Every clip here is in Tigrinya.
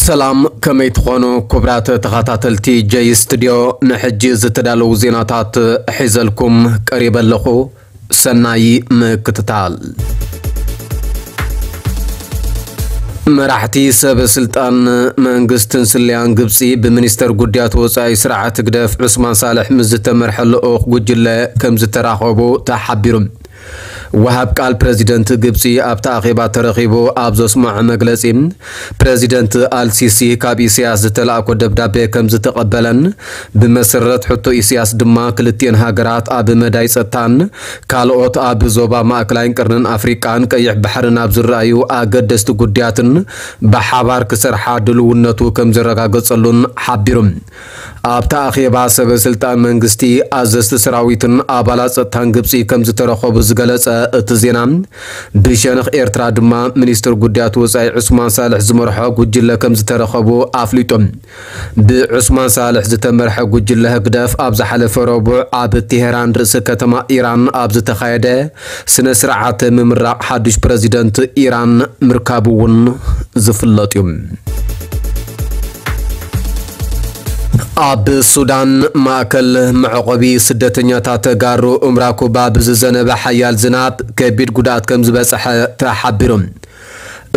ሰላም፣ ከመይ ትኾኑ ክቡራት ተኸታተልቲ ጀይ ስቱድዮ? ንሕጂ ዝተዳለዉ ዜናታት ሒዘልኩም ቀሪበ ኣለኹ። ሰናይ ምክትታል። መራሕቲ ሰብ ስልጣን መንግስትን ስለያን ግብጺ ብሚኒስተር ጉዳያት ወጻኢ ስርዓት ህግደፍ ዑስማን ሳልሕ ምስ ዝተመርሐ ልኡኽ ጉጅለ ከም ዝተራኸቡ ተሓቢሩ። ወሃብ ቃል ፕረዚደንት ግብጺ ኣብቲ ኣኼባ ተረኺቡ ኣብ ዘስምዖ መግለጺ፣ ፕረዚደንት ኣልሲሲ ካብ ኢሳያስ ዝተላእኮ ደብዳቤ ከም ዝተቐበለን፣ ብመሰረት ሕቶ ኢሳያስ ድማ ክልቲኤን ሃገራት ኣብ መዳይ ጸጥታን ካልኦት ኣብ ዞባ ማእከላይን ቀርንን ኣፍሪቃን ቀይሕ ባሕርን ኣብ ዝረኣዩ ኣገደስቲ ጉዳያትን ብሓባር ክሰርሓ ድልውነቱ ከም ዘረጋገጸሉን ሓቢሩ። ኣብቲ ኣኼባ ሰበ ስልጣን መንግስቲ፣ ኣዘዝቲ ሰራዊትን ኣባላት ጸጥታን ግብጺ ከም ዝተረኸቡ ዝገለጸ እቲ ዜና፣ ብሸነኽ ኤርትራ ድማ ሚኒስትር ጉዳያት ወጻኢ ዑስማን ሳልሕ ዝመርሖ ጉጅለ ከም ዝተረኸቡ ኣፍሊጡ። ብዑስማን ሳልሕ ዝተመርሐ ጉጅለ ህግደፍ ኣብ ዝሓለፈ ረቡዕ ኣብ ቴሄራን ርእሰ ከተማ ኢራን ኣብ ዝተኻየደ ስነ ስርዓት ምምራቕ ሓዱሽ ፕረዚደንት ኢራን ምርካቡ እውን ዝፍለጥ እዩ። ኣብ ሱዳን ማእከል መዕቆቢ ስደተኛታት ተጋሩ እምራኩባ ብዝዘነበ ሓያል ዝናብ ከቢድ ጉድኣት ከም ዝበጽሐ ተሓቢሩ።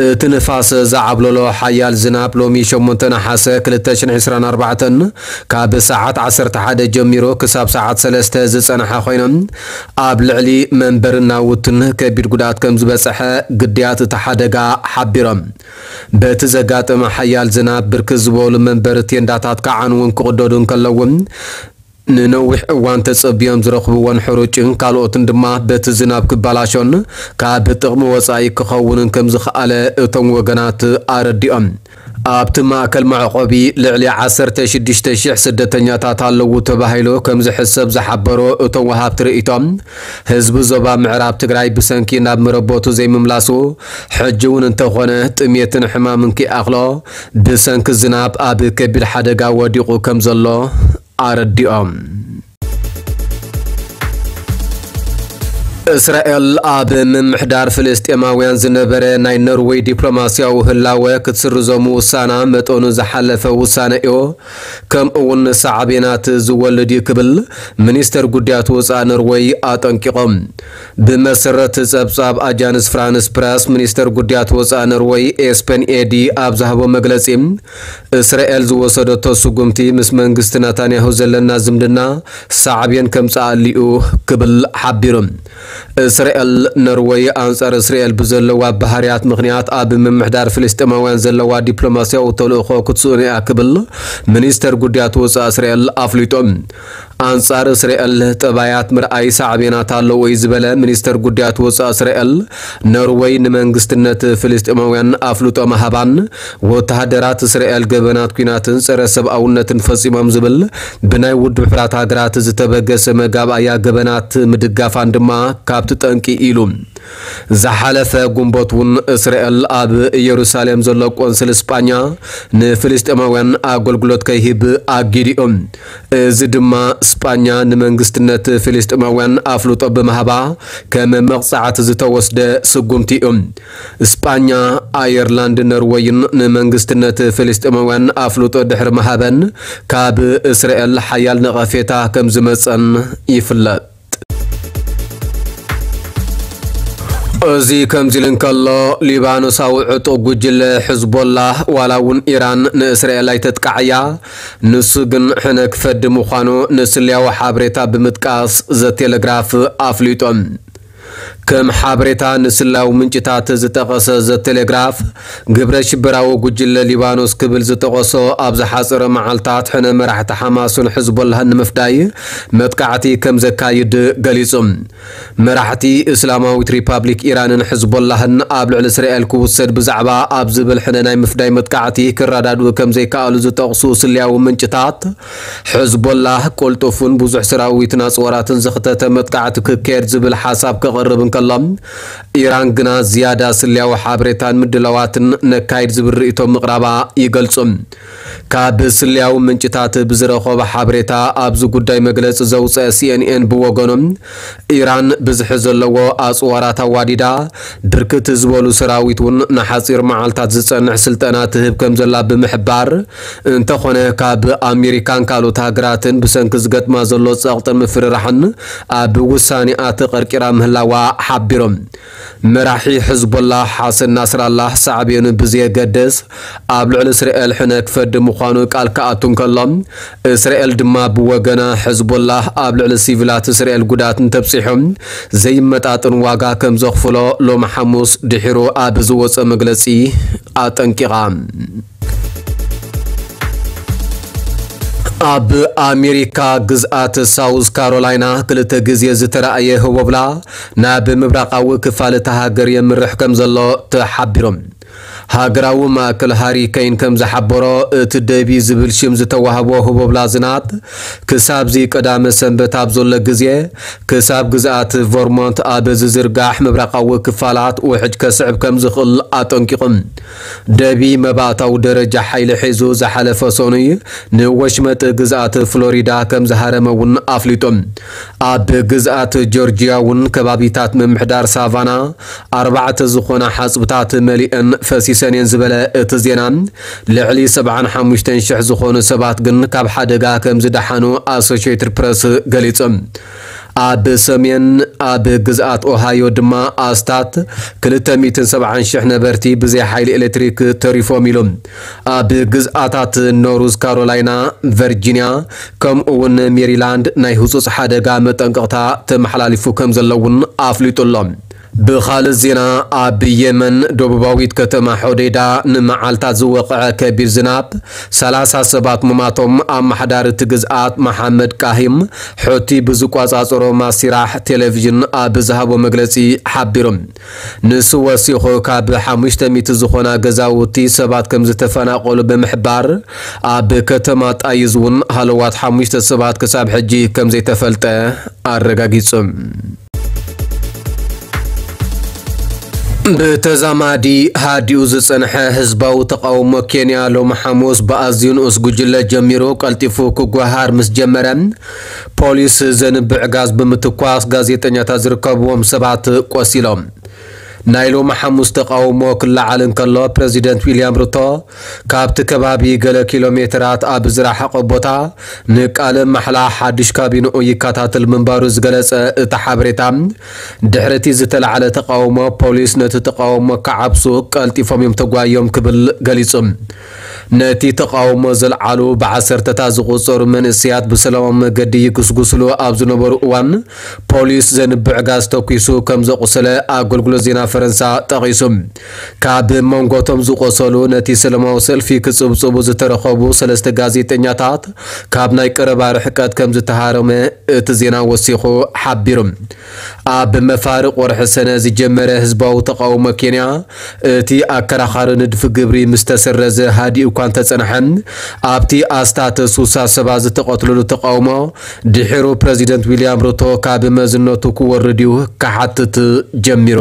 እቲ ንፋስ ዝዓብለሎ ሓያል ዝናብ ሎሚ ሸሞንተ ነሓሰ ክልተ ሽሕን ዕስራን ኣርባዕተን ካብ ሰዓት ዓሰርተ ሓደ ጀሚሩ ክሳብ ሰዓት ሰለስተ ዝጸንሐ ኮይኑ፣ ኣብ ልዕሊ መንበርን ናውትን ከቢድ ጉድኣት ከም ዝበጽሐ ግዳያት እቲ ሓደጋ ሓቢሮም። በቲ ዘጋጠመ ሓያል ዝናብ ብርክት ዝበሉ መንበሪ ቴንዳታት ክዓንዉን ክቕደዱን ከለዉ፣ ንነዊሕ እዋን ተጸብዮም ዝረኽብዎን ሕሩጭን ካልኦትን ድማ በቲ ዝናብ ክባላሾን ካብ ጥቕሚ ወጻኢ ክኸውንን ከም ዝኸኣለ እቶም ወገናት ኣረዲኦም። ኣብቲ ማእከል መዕቆቢ ልዕሊ ዓሰርተ ሽዱሽተ ሽሕ ስደተኛታት ኣለዉ ተባሂሉ ከም ዝሕሰብ ዝሓበሩ እቶም ወሃብቲ ርእይቶ፣ ህዝቢ ዞባ ምዕራብ ትግራይ ብሰንኪ ናብ መረበቱ ዘይምምላሱ፣ ሕጂ እውን እንተኾነ ጥሜትን ሕማምን ከይኣኽሎ ብሰንኪ ዝናብ ኣብ ከቢድ ሓደጋ ወዲቑ ከም ዘሎ ኣረዲኦም። እስራኤል ኣብ ምምሕዳር ፍልስጤማውያን ዝነበረ ናይ ኖርዌይ ዲፕሎማስያዊ ህላወ ክትስርዞ ምውሳና መጠኑ ዝሓለፈ ውሳነ እዩ፣ ከምኡ እውን ሳዕቤናት ዝወልድ እዩ ክብል ሚኒስተር ጉዳያት ወፃኢ ኖርዌይ ኣጠንቂቖም። ብመሰረት ጸብጻብ ኣጃንስ ፍራንስ ፕረስ፣ ሚኒስተር ጉዳያት ወፃኢ ኖርዌይ ኤስፐን ኤዲ ኣብ ዝሃቦ መግለጺ፣ እስራኤል ዝወሰደቶ ስጉምቲ ምስ መንግስቲ ናታንያሁ ዘለና ዝምድና ሳዕቤን ከምጽኣሉ እዩ ክብል ሓቢሩ። እስራኤል፣ ኖርወይ ኣንጻር እስራኤል ብዘለዋ ባህርያት ምኽንያት ኣብ ምምሕዳር ፍልስጤማውያን ዘለዋ ዲፕሎማስያዊ ተልእኾ ክትስእኖ እያ ክብል ሚኒስተር ጉዳያት ወጻኢ እስራኤል ኣፍሊጡ። ኣንጻር እስራኤል ጠባያት ምርኣይ ሳዕቤናት ኣለዎ እዩ ዝበለ ሚኒስተር ጉዳያት ወጻኢ እስራኤል፣ ኖርወይ ንመንግስትነት ፍልስጤማውያን ኣፍልጦ ምሃባን ወተሃደራት እስራኤል ገበናት ኲናትን ጸረ ሰብኣውነትን ፈጺሞም ዝብል ብናይ ውድብ ሕቡራት ሃገራት ዝተበገሰ መጋብኣያ ገበናት ምድጋፋን ድማ ካብቲ ጠንቂ ኢሉ። ዝሓለፈ ጉንበት እውን እስራኤል ኣብ ኢየሩሳሌም ዘሎ ቆንስል ስጳኛ ንፍልስጤማውያን ኣገልግሎት ከይህብ ኣጊዲኦም። እዚ ድማ ስጳኛ ንመንግስትነት ፍልስጤማውያን ኣፍልጦ ብምሃባ ከም መቕጻዕቲ ዝተወስደ ስጉምቲ እዩ። ስጳኛ፣ ኣየርላንድ፣ ኖርወይን ንመንግስትነት ፍልስጤማውያን ኣፍልጦ ድሕሪ ምሃበን ካብ እስራኤል ሓያል ነቐፌታ ከም ዝመጸን ይፍለጥ። እዚ ከምዚ ኢሉ እንከሎ፣ ሊባኖሳዊ ዕጡቕ ጉጅለ ሕዝቦላህ ዋላ እውን ኢራን ንእስራኤል ኣይተጥቃዕያ፣ ንሱ ግን ሕነ ክፈዲ ምዃኑ ንስለያዊ ሓበሬታ ብምጥቃስ ዘቴሌግራፍ ኣፍሊጦም። ከም ሓበሬታ ንስለያዊ ምንጭታት ዝጠቐሰ ዘቴሌግራፍ፣ ግብረ ሽበራዊ ጉጅለ ሊባኖስ ክብል ዝጠቐሶ ኣብ ዝሓጸረ መዓልታት ሕነ መራሕቲ ሓማስን ሕዝቦላህን ንምፍዳይ መጥቃዕቲ ከም ዘካይድ ገሊጹ። መራሕቲ እስላማዊት ሪፓብሊክ ኢራንን ሕዝቦላህን ኣብ ልዕሊ እስራኤል ክውሰድ ብዛዕባ ኣብ ዝብል ሕነ ናይ ምፍዳይ መጥቃዕቲ ክረዳድኡ ከም ዘይከኣሉ ዝጠቕሱ ስልያዊ ምንጭታት፣ ሕዝቦላህ ቅልጡፍን ብዙሕ ሰራዊትን ኣጽዋራትን ዘኽተተ መጥቃዕቲ ክካየድ ዝብል ሓሳብ ክቕርብ እንከሎ፣ ኢራን ግና ዝያዳ ስለያዊ ሓበሬታን ምድላዋትን ነካይድ ዝብል ርእይቶ ምቕራባ ይገልጹ። ካብ ስለያዊ ምንጭታት ብዝረኸቦ ሓበሬታ ኣብዚ ጉዳይ መግለጺ ዘውፀአ ሲኤንኤን ብወገኖም፣ ኢራን ብዝሒ ዘለዎ ኣፅዋራት ኣዋዲዳ፣ ብርክት ዝበሉ ሰራዊት እውን ንሓፂር መዓልታት ዝፀንሕ ስልጠና ትህብ ከም ዘላ ብምሕባር፣ እንተኾነ ካብ ኣሜሪካን ካልኦት ሃገራትን ብሰንኪ ዝገጥማ ዘሎ ፀቕጥን ምፍርራሕን ኣብ ውሳኔኣ ተቐርቂራ ምህላዋ ሓቢሮም። መራሒ ሕዝቦላህ ሓሰን ናስራላህ ሳዕቤኑ ብዘየገድስ ኣብ ልዕሊ እስራኤል ሕነ ክፈዲ ምዃኑ ቃል ክኣቱ እንከሎ፣ እስራኤል ድማ ብወገና ሕዝቦላህ ኣብ ልዕሊ ሲቪላት እስራኤል ጉድኣት እንተብፂሑ ዘይመጣጥን ዋጋ ከም ዘኽፍሎ ሎሚ ሓሙስ ድሒሩ ኣብ ዝወፀ መግለፂ ኣጠንቂቓ። ኣብ ኣሜሪካ ግዝኣት ሳውዝ ካሮላይና ክልተ ግዜ ዝተራእየ ህቦብላ ናብ ምብራቓዊ ክፋል እታ ሃገር የምርሕ ከም ዘሎ ተሓቢሩ። ሃገራዊ ማእከል ሃሪከይን ከም ዝሓበሮ፣ እቲ ደቢ ዝብል ሽም ዝተዋህቦ ህቦብላ ዝናብ ክሳብዚ ቀዳመ ሰንበት ኣብ ዘሎ ግዜ ክሳብ ግዝኣት ቨርሞንት ኣብ ዝዝርጋሕ ምብራቓዊ ክፋላት ውሕጅ ከስዕብ ከም ዝኽእል ኣጠንቂቑ። ደቢ መባእታዊ ደረጃ ሓይሊ ሒዙ ዝሓለፈ ሰኑይ ንወሽመጥ ግዝኣት ፍሎሪዳ ከም ዝሃረመ እውን ኣፍሊጡ። ኣብ ግዝኣት ጆርጂያ እውን ከባቢታት ምምሕዳር ሳቫና ኣርባዕተ ዝኾና ሓጽብታት መሊአን ፈሲሰን እየን ዝበለ እቲ ዜና፣ ልዕሊ ሰብዓን ሓሙሽተን ሽሕ ዝኾኑ ሰባት ግን ካብ ሓደጋ ከም ዝደሓኑ ኣሶሽየትድ ፕረስ ገሊጹ። ኣብ ሰሜን ኣብ ግዝኣት ኦሃዮ ድማ ኣስታት ክልተ ሚእትን ሰብዓን ሽሕ ነበርቲ ብዘይ ሓይሊ ኤሌክትሪክ ተሪፎም ኢሉ። ኣብ ግዝኣታት ኖርዝ ካሮላይና፣ ቨርጂንያ፣ ከምኡ እውን ሜሪላንድ ናይ ህጹጽ ሓደጋ መጠንቀቕታ ተመሓላሊፉ ከም ዘሎ እውን ኣፍሊጡ ኣሎ። ብኻልእ ዜና፣ ኣብ የመን ደቡባዊት ከተማ ሖዴዳ ንመዓልታት ዝወቕዐ ከቢድ ዝናብ ሰላሳ ሰባት ምማቶም ኣመሓዳሪ እቲ ግዝኣት መሓመድ ቃሂም ሑቲ ብዝቆጻጸሮ ማሲራሕ ቴሌቪዥን ኣብ ዝሃቦ መግለጺ ሓቢሩ። ንሱ ወሲኹ፣ ካብ ሓሙሽተ ሚእቲ ዝኾና ገዛውቲ ሰባት ከም ዝተፈናቐሉ ብምሕባር፣ ኣብ ከተማ ጣይዝ እውን ሃለዋት ሓሙሽተ ሰባት ክሳብ ሕጂ ከም ዘይተፈልጠ ኣረጋጊጹ። ብተዛማዲ ሃዲኡ ዝጸንሐ ህዝባዊ ተቓውሞ ኬንያ ሎሚ ሓሙስ ብኣዝዩ ንኡስ ጉጅለ ጀሚሩ ቀልጢፉ ክጓሃር ምስ ጀመረ፣ ፖሊስ ዘንብዕ ጋዝ ብምትኳስ ጋዜጠኛታት ዝርከብዎም ሰባት ቆሲሎም። ናይ ሎሚ ሓሙስ ተቓውሞ ክለዓል እንከሎ፣ ፕረዚደንት ዊልያም ሩቶ ካብቲ ከባቢ ገለ ኪሎ ሜትራት ኣብ ዝረሓቐ ቦታ ንቃለ ማሕላ ሓድሽ ካቢንኡ ይከታተል ምንባሩ ዝገለጸ እቲ ሓበሬታ፣ ድሕሪ እቲ ዝተላዕለ ተቓውሞ፣ ፖሊስ ነቲ ተቓውሞ ክዓብሱ ቀልጢፎም እዮም ተጓዮም ክብል ገሊጹ። ነቲ ተቓውሞ ዘልዓሉ ብዓሰርተታት ዝቑጸሩ መንእሰያት ብሰላማዊ መገዲ ይጉስጉስሉ ኣብ ዝነበሩ እዋን፣ ፖሊስ ዘንብዕ ጋዝ ተኲሱ ከም ዘቑሰለ ኣገልግሎት ዜና ፈረንሳ ጠቒሱ። ካብ መንጎ እቶም ዝቖሰሉ፣ ነቲ ሰላማዊ ሰልፊ ክጽብጽቡ ዝተረኸቡ ሰለስተ ጋዜጠኛታት ካብ ናይ ቀረባ ርሕቀት ከም ዝተሃረመ እቲ ዜና ወሲኹ ሓቢሩ። ኣብ መፋርቕ ወርሒ ሰነ ዝጀመረ ህዝባዊ ተቓውሞ ኬንያ፣ እቲ ኣከራኻሪ ንድፊ ግብሪ ምስ ተሰረዘ ሃዲኡ እኳ እንተጸንሐ፣ ኣብቲ ኣስታት ሱሳ ሰባት ዝተቐትሉሉ ተቓውሞ ድሒሩ ፕረዚደንት ዊልያም ሩቶ ካብ መዝነቱ ክወርድ እዩ ክሓትት ጀሚሩ።